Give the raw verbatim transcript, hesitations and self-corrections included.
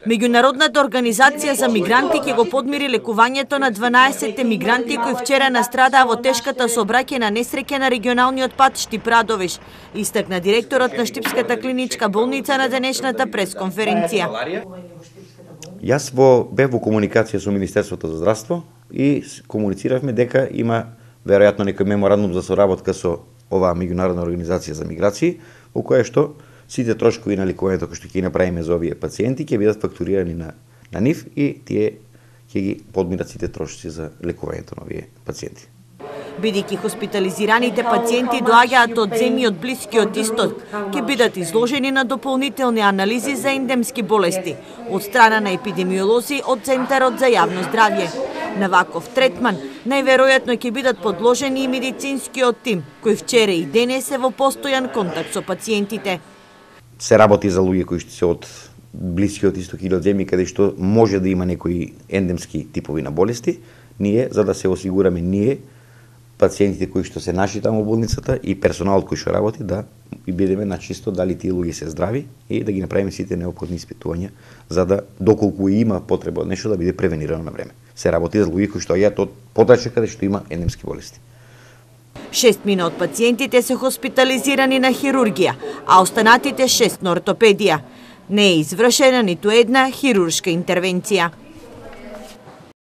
Меѓународната организација за мигранти ќе го подмири лекувањето на дванаесет мигранти кои вчера настрадаа во тешката сообраќајна несреќа на регионалниот пат Штип-Радовиш, истакна директорот на Штипската клиничка болница на денешната пресконференција. Јас во бев во комуникација со Министерството за здравство и комунициравме дека има веројатно некој меморандум за соработка со оваа меѓународна организација за миграции, во која што сите трошкови на лекувањето кои што ќе направиме за овие пациенти ќе бидат фактурирани на на нив и тие ќе ги подминат сите трошоци за лекувањето на овие пациенти. Бидејќи хоспитализираните пациенти доаѓаат од земји од Блискиот Исток, ќе бидат изложени на дополнителни анализи за ендемски болести од страна на епидемиолози од Центарот за јавно здравје. На ваков третман најверојатно ќе бидат подложени и медицинскиот тим, кој вчера и денес е во постојан контакт со пациентите. Се работи за луѓе кои што се од Блискиот Исток или од земји каде што може да има некои ендемски типови на болести. Ние, за да се осигураме ние, пациентите кои што се наши таму во болницата и персоналот кој што работи, да и бидеме на чисто дали тие луѓе се здрави и да ги направиме сите неопходни испитувања за да доколку има потреба од нешто да биде превенирано на време. Се работи за луѓе кои што доаѓаат од подрачја каде што има ендемски болести. Шестмина од пациентите се хоспитализирани на хирургија, а останатите шест на ортопедија. Не е извршена ниту една хируршка интервенција.